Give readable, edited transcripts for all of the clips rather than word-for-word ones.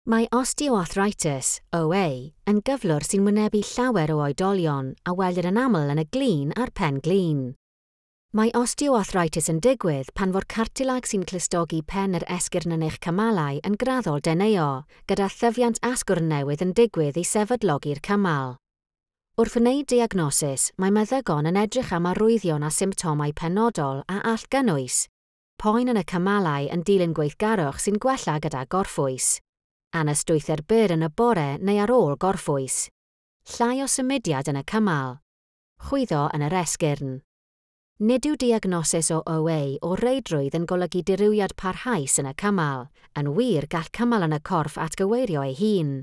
Mae osteoarthritis, OA, yn gyflwr sy'n wynebu llawer o oedolion a welir yn aml yn y glin a'r pen-glin. Mae osteoarthritis yn digwydd pan fo'r cartilag sy'n clustogi pen yr esgyrn yn eich cymalau yn graddol deneuo, gyda thyfiant asgwrn newydd yn digwydd i sefydlogi'r cymal. Wrth wneud diagnosis, mae meddygon yn edrych am arwyddion a symptomau penodol a all gynnwys poen yn y cymalau yn dilyn gweithgarwch sy'n gwella gyda gorffwys, anystwythder byr yn y bore neu ar ôl gorffwys, llai o symudiad yn y cymal, chwyddo yn yr esgyrn. Nid yw diagnosis o OA o reidrwydd yn golygu dirywiad parhaus yn y cymal, yn wir gall cymal yn y corff atgyweirio ei hun.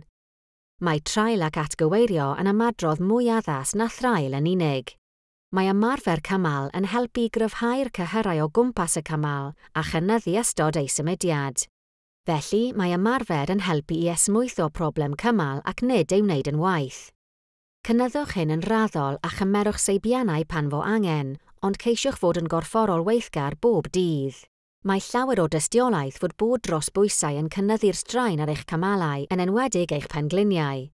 Mae traul ac atgyweirio yn ymadrodd mwy addas na thraul yn unig. Mae ymarfer cymal yn helpu i gryfhau'r cyhyrau o gwmpas y cymal a chynyddu ystod ei symudiad. Felly, mae ymarfer yn helpu i esmwytho problem cymal ac nid ei wneud yn waeth. Cynyddwch hyn yn raddol a chymerwch seibiannau pan fo angen, ond ceisiwch fod yn gorfforol weithgar bob dydd. Mae llawer o dystiolaeth fod bod dros bwysau yn cynyddu'r straen ar eich cymalau, yn enwedig eich pengliniau.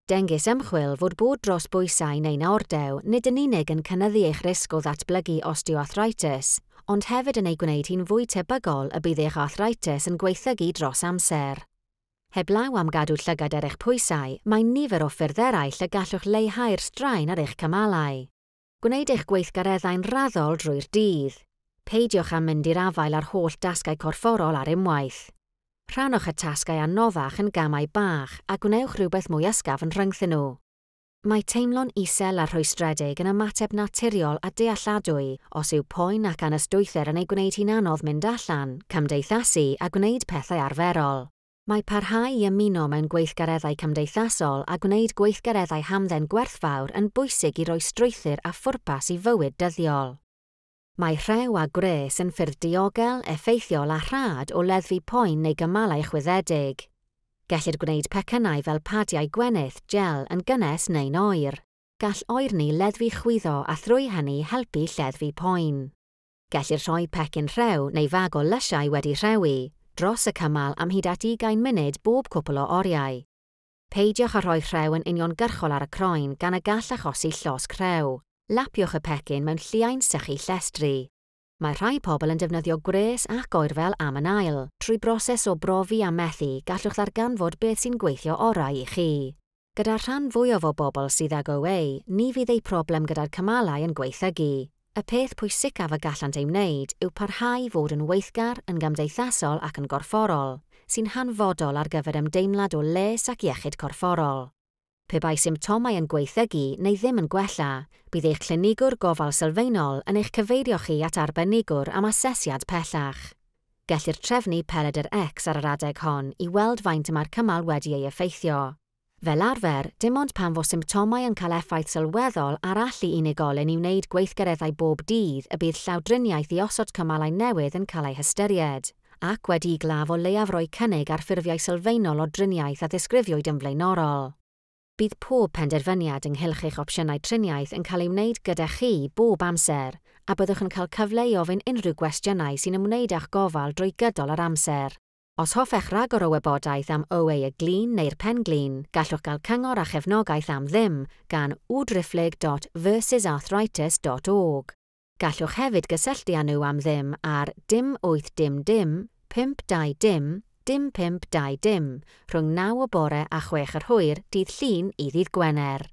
Dengys ymchwil fod bod dros bwysau neu'n ordew nid yn unig yn cynyddu eich risg o ddatblygu osteoarthritis, ond hefyd yn ei gwneud hi'n fwy tebygol y bydd eich arthritis yn gwaethygu dros amser. Heblaw am gadw llygad ar eich pwysau, mae nifer o ffyrdd eraill y gallwch leihau'r straen ar eich cymalau. Gwneud eich gweithgareddau'n raddol drwy'r dydd. Peidiwch â mynd i'r afael â'r holl dasgau corfforol ar unwaith. Rhannwch y tasgau anoddach yn gamau bach a gwnewch rhywbeth mwy ysgafn rhyngthyn nhw. Mae teimlo'n isel a rhwystredig yn ymateb naturiol a dealladwy os yw poen ac anystwythder yn ei gwneud hi'n anodd mynd allan, cymdeithasu a gwneud pethau arferol. Mae parhau i ymuno mewn gweithgareddau cymdeithasol a gwneud gweithgareddau hamdden gwerthfawr yn bwysig i roi strwythur a phwrpas i fywyd dyddiol. Mae rhew a gwres yn ffyrdd diogel, effeithiol a rhad o leddfu poen neu gymalau chwyddedig. Gellir gwneud pecynnau fel padiau gwenith, gel yn gynnes neu'n oer. Gall oerni leddfu chwyddo a thrwy hynny helpu lleddfu poen. Gellir rhoi pecyn rhew neu fag o lysiau wedi rhewi dros y cymal am hyd at 20 munud bob cwpl o oriau. Peidiwch â rhoi rhew yn uniongyrchol ar y croen gan y gall achosi llosg rhew. Lapiwch y pecyn mewn lliain sychu llestri. Mae rhai pobl yn defnyddio gwres ac oerfel am yn ail. Trwy broses o brofi a methu, gallwch ddarganfod beth sy'n gweithio orau i chi. Gyda'r rhan fwyaf o bobl sydd ag OA, ni fydd eu problem gyda'r cymalau yn gwaethygu. Y peth pwysicaf y gallant ei wneud yw parhau i fod yn weithgar, yn gymdeithasol ac yn gorfforol, sy'n hanfodol ar gyfer ymdeimlad o les ac iechyd corfforol. Pe bai symptomau yn gwaethygu neu ddim yn gwella, bydd eich clinigwr gofal sylfaenol yn eich cyfeirio chi at arbenigwr am asesiad pellach. Gellir trefnu pelydr X ar yr adeg hon i weld faint y mae'r cymal wedi ei effeithio. Fel arfer, dim ond pan fo symptomau yn cael effaith sylweddol ar allu unigolyn i wneud gweithgareddau bob dydd y bydd llawdriniaeth i osod cymalau newydd yn cael ei hystyried, ac wedi i glaf o leiaf roi cynnig ar ffurfiau sylfaenol o driniaeth a ddisgrifiwyd yn flaenorol. Bydd pob penderfyniad ynghylch eich opsiynau triniaeth yn cael ei wneud gyda chi bob amser, a byddwch yn cael cyfle i ofyn unrhyw gwestiynau sy'n ymwneud â'ch gofal drwy gydol yr amser. Os hoffech ragor o wybodaeth am OA y glin neu'r pen-glin, gallwch gael cyngor a chefnogaeth am ddim gan www.versusarthritis.org. Gallwch hefyd gysylltu â nhw am ddim ar dim 8 dim dim 5 2 dim dim 5 2 dim rhwng 9 o bore a 6 yr hwyr dydd Llun i ddydd Gwener.